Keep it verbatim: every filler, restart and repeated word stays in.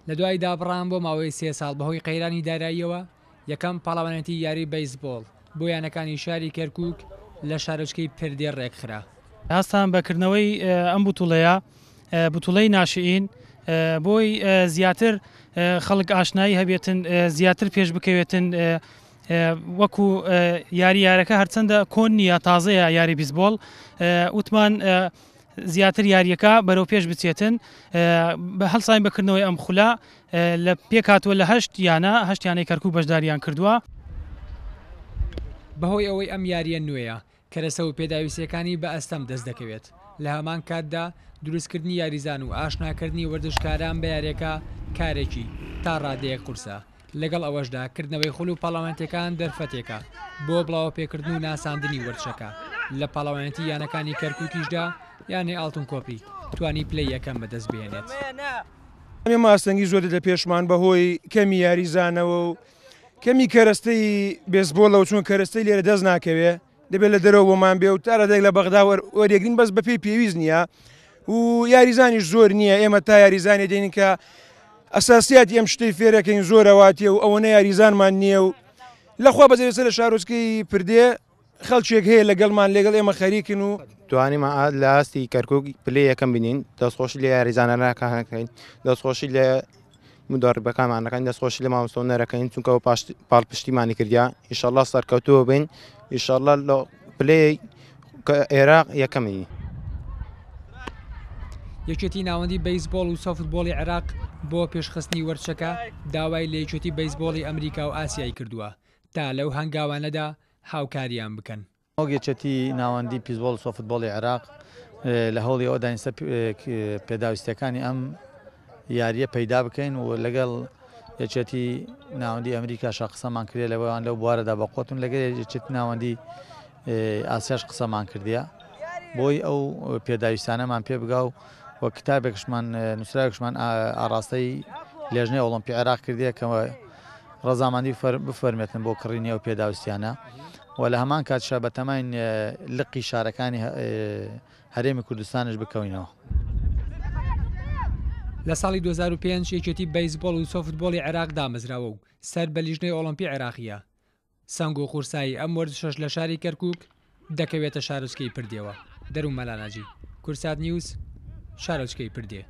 لە دوای دابڕان بۆ ماوەی سێ ساڵ بەهۆی قەیرانی داراییەوە، یەکەم پاڵەوانێتی یاری بەیسبۆڵ بۆ یانەکانی شاری کەرکووک لە شارۆچکەی پردێ ڕێکخرا. هەستان بە کردنەوەی ئەم بوتوڵەیە، بوتوڵەی ناشئین، بۆی زیاتر خەڵک ئاشنایی هەبێتن، زیاتر پێش بکەوێتن. وەکو یاری یارەکە هەرچەندە کۆن نییە، تازەیە یاری بیسبۆڵ، وتمان زیاتر یاریەکە بەرەو پێش بچێتن. بە هەڵساین بەکردنەوەی ئەم خولە لە پێکاتوە لە هەشت یانە، هەشت یانەی کەرکوو بەشداریان کردووە. بەهۆی ئەوەی ئەم یاریە نوێیە، کەرەسە و پێداویستیەکانی بە ئەستەم دەست دەکەوێت. لە هەمان کاتدا دروستکردنی یاریزان و ئاشناکردنی وەرزشکاران بە یاریەکە کارێکی تا ڕادەیەک قورسە. لەگەڵ ئەوەشدا کردنەوەی خول و پاڵەوانێتیەکان دەرفەتێکە بۆ بڵاوەپێکردن و ناساندنی وەرزشەکە. لە پاڵەوانێتی یانەکانی کەرکووکیشدا یانەی ئاڵتون کۆپری توانی پلەی یەکەم بەدەست بهێنێت. ئێمە ئاستەنگی زۆر لە پێشمان بەهۆی کەمی یاریزانەوە و کەمی کەرەستەی بێسبۆڵەوە، چون کەرەستەی لێرە دەست ناکەوێ، دەبێت لە دەرەوە بۆمان بێ و تا ڕادەیەک لە بەغدا وەرێگرین، بەس بەپێی پێویست نییە و یاریزانیش زۆر نییە. ئێمە تا یاریزانێ دێنین کە ئەساسیاتی ئەم شتەی فێرەکەین زۆرەواتیە و ئەوەنە یاریزانمان نییە و لەخوا بەجێ لە شارۆچکەی پردێ خەڵکێک هەیە لەگەڵمان، لەگەڵ ئێمە خەریکن و توانیمان لە ئاستی کەرکووک پلەی یەکەم بینین. دەستخۆشی لە یاریزانەکانەکەین، دەستخۆشی لە مدەڕیبەکانمانەکەین، دەستخۆشی لە مامۆستا هونەرەکەین، چونکە ئەو پاڵپشتیمانی کردیا. ئینشەڵڵا سەرکەوتووە بین، ئینشەڵڵا لە پلەی عێراق یەکەمین. یەکێتی ناوەندی بەیسبۆڵ و سۆفتبۆڵی عێراق بۆ پێشخستنی وەرزشەکە داوای لە یەکێتی بەیسبۆڵی ئەمریکا و ئاسیای کردووە تا لەو هەنگاوانەدا هاوکاریان بکەن. وەک یەکێتی ناوەندی پیسبۆڵ و سۆفتبۆڵی عێراق لە هەوڵی ئەوەداین سەر پێداویستیەکانی ئەم یاریە پەیدا بکەین و لەگەڵ یەکێتی ناوەندی ئەمریکاشا قسەمان کردیە لەوان لەو بوارەدا بەقوتن، لەگەڵ یەکێتی ناوەندی ئاسیاش قسەمان کردیە بۆی ئەو پێداویستانەمان پێ بگا و وە کتابێکشمان نووسراوێکشمان ئاراستەی لێژنەی ئۆڵۆمپی عێراق کردیە کە ڕەزامەندی بفەرمێتن بۆ کڕینی ئەو پێداویستیانە و لە هەمان کاتشا بەتەماین لقی شارەکانی هەرێمی کوردستانش بکەوینەوە. لە ساڵی دوو هەزار و پێنج یەکێتی بەیسبۆڵ و سۆفتبۆڵی عێراق دامەزراوە و سەر بە لیژنەی ئۆڵۆمپی عێراقیە. سەنگ و قورسایی ئەم وەرزشەش لە شاری کەرکووک دەکەوێتە شارۆچکەی پردێوە. دەروون مەلاناجی، کورسات نیوز، شارۆچکەی پردێ.